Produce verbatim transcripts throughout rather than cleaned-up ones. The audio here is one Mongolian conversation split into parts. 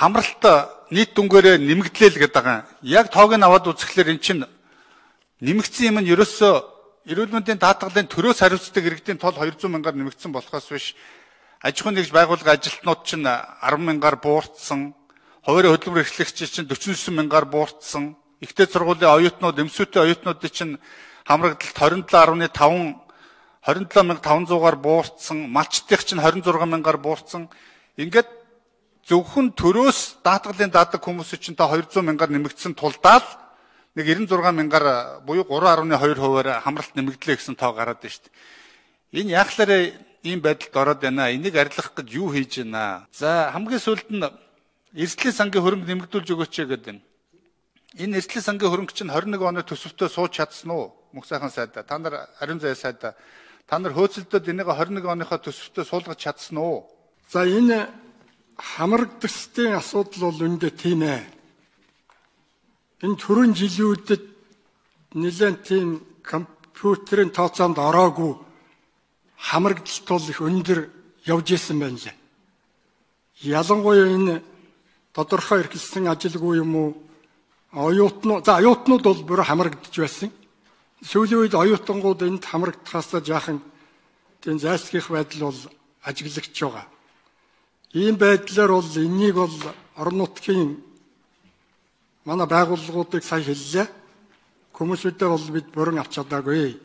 хамралт нийт дүнгээрээ нэмэгдлээ л гэдэг байгаа. Яг тоог нь аваад үзэхлээр эн чинь нэмэгдсэн юм нь ерөөсөө эрүүл мэндийн даатгалын төрөөс хариуцдаг иргэдийн тол хоёр зуун мянгаар нэмэгдсэн болохоос биш аж ахуйн нэгж байгууллага ажилтнууд чинь арван мянгаар буурсан, хувийн хөдөлмөр эрхлэгчид чинь дөрвөн дөрвөн мянгаар буурсан, ихтэй сургуулийн оюутнууд, эмсүүтэй оюутнуудын чинь хамрагдалт двадцать seven point five двадцать seven thousand five hundred-аар буурсан, малчдынх чинь twenty-six мянгаар буурсан. Ингээд зөвхөн төрөөс даатгалын даадаг хүмүүсийн чинь та two hundred мянгаар нэмэгдсэн тулдаа л нэг ninety-six мянгаар буюу three point two хувиар хамралт нэмэгдлээ гэсэн тоо гараад байна шүү дээ. Энэ яахлаар ийм байдалд ороод байна. Энийг арилгах гэж юу хийж байна? За хамгийн сүүлд нь эрсдлийн сангийн хөрөнгө нэмэгдүүлж өгөөч гэдэг байна. Энэ эрсдлийн сангийн хөрөнгө чинь twenty-one оны төсөвтөө сууж чадсан уу? Мөнх сайхан сайдаа. Та нар ариун зай сайдаа. Та нар хөөцөлдөөд энийг twenty-one оныхоо төсөвтөө суулгаж чадсан уу? За энэ хамрагдалтын асуудал бол үндэ тийм ээ. Энэ түрүүн жилүүдэд нэлээд тийм компьютерийн тооцоонд ороогүй хамрагдалт бол их өндөр явж исэн байна лээ. Ялангуяа энэ тодорхой эрхэлсэн ажилгүй юм уу оюутнууд за оюутнууд бол бүр хамрагдж байсан. Сүүлийн үед оюутангууд энд хамрагдахаас жаахан тийм зайлсхийх байдал бол ажиглагдж байгаа. Ийм байдлаар бол энийг бол орон нутгийн манай байгууллагуудыг сая хэллээ. Хүмүүсүүдээ бол бид бүрэн авч чадаагүй.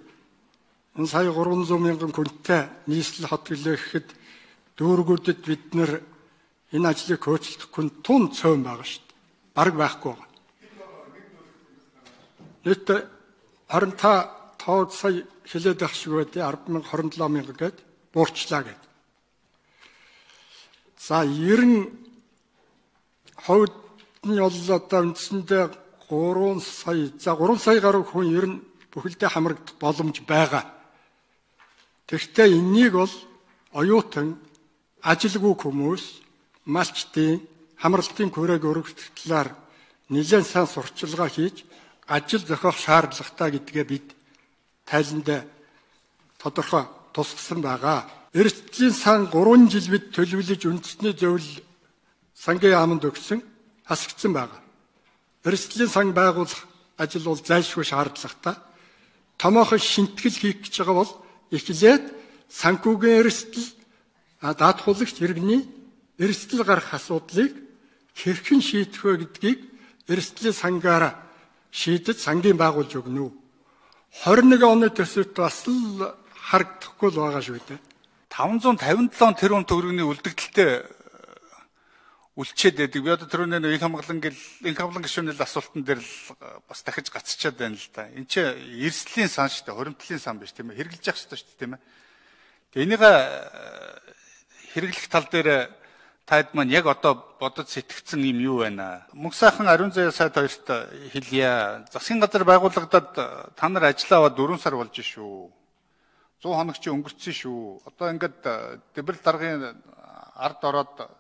Энэ сая three hundred мянган хүнтэй нийслэл хот гэлэхэд дүүргүүдэд бид нэр энэ ажлыг хөөцөлдөхгүй тун цөөн байгаа шүү дээ. Бараг байхгүй байгаа. Нийт twenty тоог сая хэлээд байх шиг байдیں۔ ten thousand twenty-seven мянга гээд буурчлаа гээд. За ninety хувьд нь бол одоо үндсэндээ three сая за three сая гаруй хүн ер нь бүхэлдээ хамрагдах боломж байгаа. Тэгэхдээ энийг бол оюутан, ажилгүй хүмүүс, малчдын, хамралтын күрээг өргөх талаар нэлээд сайн сурчилгаа хийж ажил зохиох шаардлагатай гэдгээ бид тайланд тодорхой тусгасан байгаа. Эрсдлийн сан three жил бид төлөвлөж үндэсний зөвлөл сангийн яамд өгсөн хасагдсан байгаа. Эрсдлийн сан байгуулах ажил бол зайлшгүй шаардлагатай. Томоохон шинтгэл хийх гэж байгаа бол эхлээд санхүүгийн эрсдэл даатгуулагч иргэний эрсдэл гарах асуудлыг хэрхэн шийдэх вэ гэдгийг эрсдлийн сангаараа шийдэж сангийн байгуулж өгнө. twenty-one оны төсөвт бас л харагдахгүй л байгаа шүү дээ. five hundred fifty-seven тэрбум төгрөгийн үлдэгдэлтэй үлчээд байдаг. Би одоо түрүүний нэг хамгаалан гэл инх хамгаалан гишүүний асуултан дээр л бас дахиж гацчихад байна л да. Энд чи эрсдлийн сан шүү дээ, хуримтлалын сан биш тийм ээ. Хэрэгжилж явах хэрэгтэй шүү дээ тийм ээ. Тэгээ энийг хэрэглэх тал дээр таад маань яг одоо бодож сэтгэгдсэн юм юу байна? Мөнх сайхан ариун зай сайд хоёрт хэлье. Засгийн газар байгуулагдаад та нар ажиллаа аваад four сар болж шүү. one hundred хоног чи өнгөрцөн шүү. Одоо ингээд Дэмбэрэл даргын ард ороод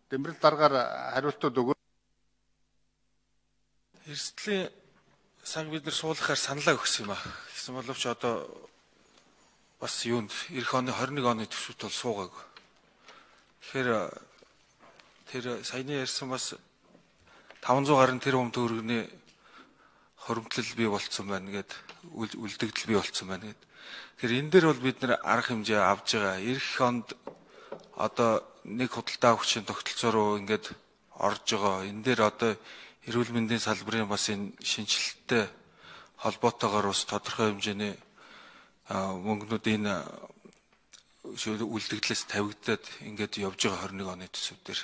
Дэмбэрэл даргаар хариултууд өгөө. Эрсдлийн санг бид нар суулгахаар саналаа өгсөн юм аа. Гэсэн боловч одоо бас юунд эх оны twenty-one оны төсөвт бол суугаагүй. Тэгэхээр тэр саяны ярьсан бас five hundred гаруй тэрбум төгрөгийн хоримтлал бий болцсон байна гэд үлдэгдэл бий болцсон байна гэд. Тэгэхээр энэ дээр бол бид нэр арга хэмжээ авж байгаа. Эх онд одоо нэг худалдаа авахчийн тогтолцоо руу ингээд орж байгаа. Энэ дээр одоо эрүүл мэндийн салбарын бас энэ шинжилттэй холбоотойгоор бас тодорхой хэмжээний мөнгнүүд энэ үлдэгдлээс тавигдаад ингээд явж байгаа twenty-one оны төсөв дээр.